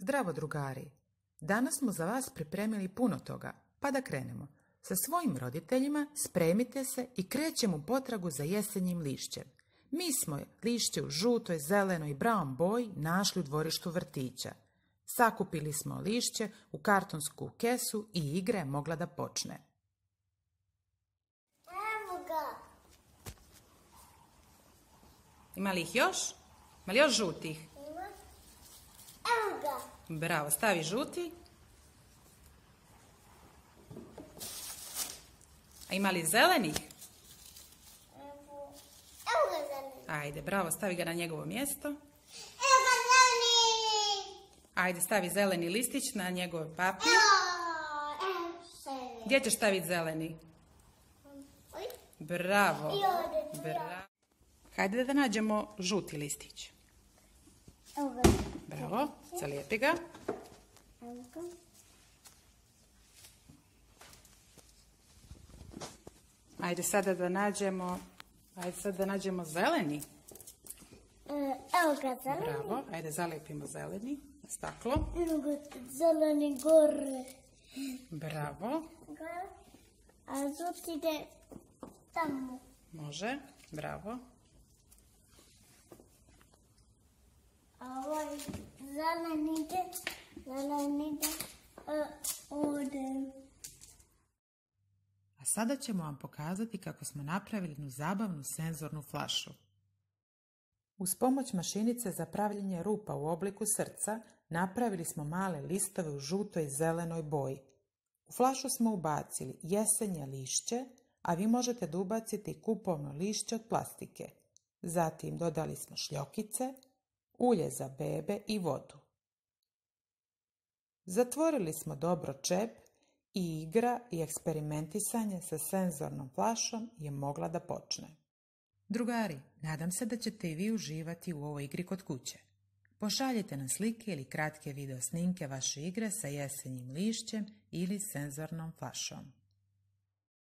Zdravo drugari! Danas smo za vas pripremili puno toga, pa da krenemo. Sa svojim roditeljima spremite se i krećemo u potragu za jesenjim lišćem. Mi smo lišće u žutoj, zelenoj i brown boji našli u dvorištu vrtića. Sakupili smo lišće u kartonsku kesu i igra je mogla da počne. Evo ga! Ima li ih još? Ima li još žutih? Ima. Evo ga! Bravo, stavi žuti. A ima li zelenih? Evo ga zeleni! Ajde, bravo, stavi ga na njegovo mjesto. Evo ga zeleni! Ajde, stavi zeleni listić na njegov papir. Evo se! Gdje ćeš staviti zeleni? Oj. Bravo. I ovdje tu. Bravo. Hajde da nađemo žuti listić. Evo ga. Bravo, zalijepi ga. Evo ga. Ajde sada da nađemo zeleni. Evo ga zeleni. Bravo, ajde zalijepimo zeleni na staklo. Evo ga zeleni gore. Bravo, A žuti ide tamo. može, bravo. A ovaj zeleni ide ovdje. A sada ćemo vam pokazati kako smo napravili jednu zabavnu senzornu flašu. Uz pomoć mašinice za pravljenje rupa u obliku srca napravili smo male listove u žutoj i zelenoj boji. U flašu smo ubacili jesenje lišće, a vi možete da ubacite i kupovno lišće od plastike. Zatim dodali smo šljokice, ulje za bebe i vodu. Zatvorili smo dobro čep i igra i eksperimentisanje sa senzornom flašom je mogla da počne. Drugari, nadam se da ćete i vi uživati u ovoj igri kod kuće. Pošaljite nam slike ili kratke video snimke vaše igre sa jesenjim lišćem ili senzornom flašom.